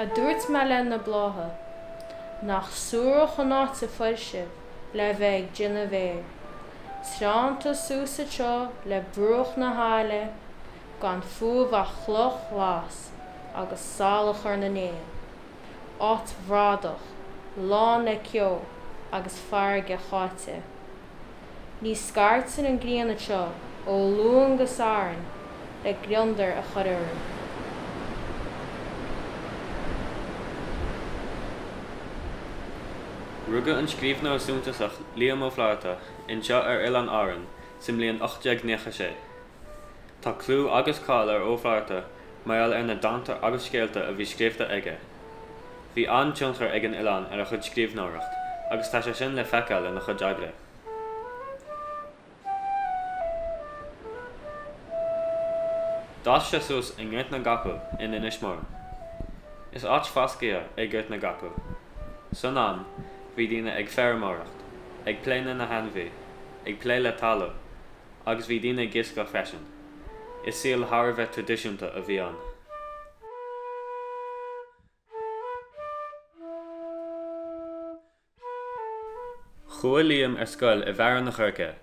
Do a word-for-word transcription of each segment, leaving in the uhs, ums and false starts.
A dúirt mé le na blátha, nach suarach an áit a fuair sibh le bheith ag déanamh féir. Treánta suas anseo le bruach na haille, gan fúibh ach cloch ghlas agus salachar na n-éan. Áit bhradach, lán le ceo agus farraige cháite. Ní scairteann an ghrian anseo ó Luan go Satharn le gliondar a chur orainn. Rugadh an scríbhneoir suntasach Liam Ó Flaithearta anseo ar Oileáin Árann sa mbliain ocht déag nócha sé. Tá clú agus cáil ar Ó Flaithearta mar gheall ar na dánta agus scéalta a bhí scríofa aige. Bhí an-tionchar ag an oileán ar a chuid scríbhneoireacht agus tá sé sin le feiceáil ina chuid oibre. D'fhás sé suas i nGort na gCapall in Inis Mór. Is áit foscaidh é Gort na gCapall. San am, bhí daoine ag feirmeoireacht, ag plé le na hainmhithe, ag plé le talamh, agus bhí daoine ag iascach freisin. Is saol thar a bheith traidisiúnta a bhí ann. Chuaigh Liam ar scoil i bhFearann an Choirce,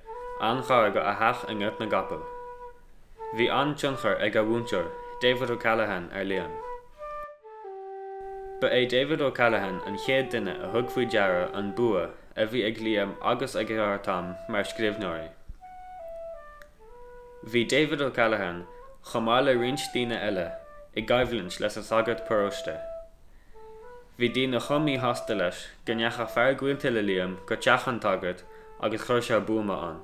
an-ghar do a theach i nGort na gCapall. Bhí an-tionchar ag a mhúinteoir, David O'Callaghan, ar Liam. Ba é David O'Callaghan an chéad duine a thug faoi deara an bua a bhí ag Liam agus ag a dheartháir Tom mar scríbhneoirí. Bhí David O'Callaghan, chomh maith le roinnt daoine eile, i gcoimhlint leis an sagart paróiste. Bhí daoine chomh míshásta leis go ndeachaigh fear gaolta le Liam go teach an tsagairt agus chuir sé buama ann.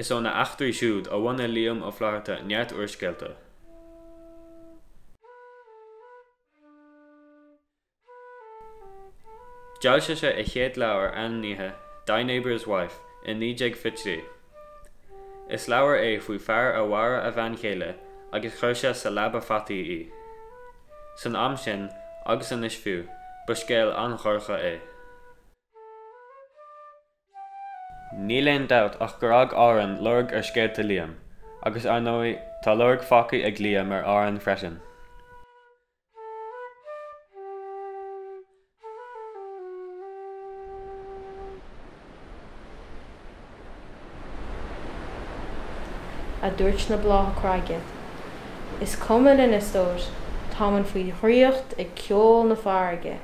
Is ó na heachtraí siúd a bhunaigh Liam Ó Flaithearta neart úrscéalta. D'fhoilsigh sé a chéad leabhar ainmnithe Thy Neighbour's Wife i naoi déag fiche trí. Is leabhar é faoi fear a mharaigh a bhean chéile agus chuir sé sa leaba fataí í. San am sin, agus anois fiú, ba scéal an-dhorcha é. Níl aon dabht ach gur fhág Árainn lorg ar scéalta Liam, agus ar ndóigh, tá lorg fágtha ag Liam ar Árainn freisin. A dúirt na blátha craige. Is cuma linn, a stór, táimid faoi dhraíocht ag ceol na farraige.